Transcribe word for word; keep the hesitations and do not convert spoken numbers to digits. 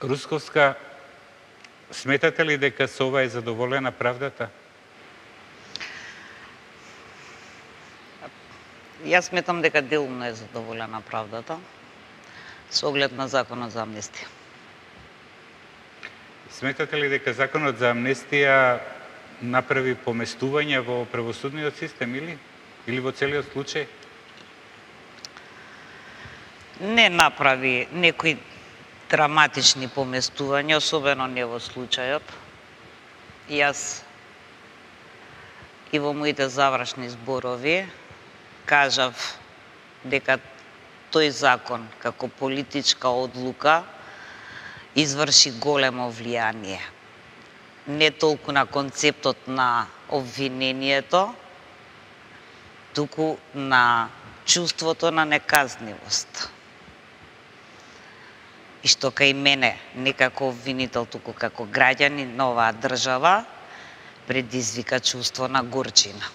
Русковска, сметате ли дека со ова е задоволена правдата? Јас сметам дека делумно е задоволена правдата со оглед на законот за амнестија. Сметате ли дека законот за амнестија направи поместување во правосудниот систем или или во целиот случај? Не направи некои драматични поместувања, особено не во случајот. Јас и во моите завршни зборови кажав дека тој закон како политичка одлука изврши големо влијание не толку на концептот на обвинението, туку на чувството на неказнивост. И што кај мене, не како обвинител, туку како граѓанин на оваа држава, предизвика чувство на горчина.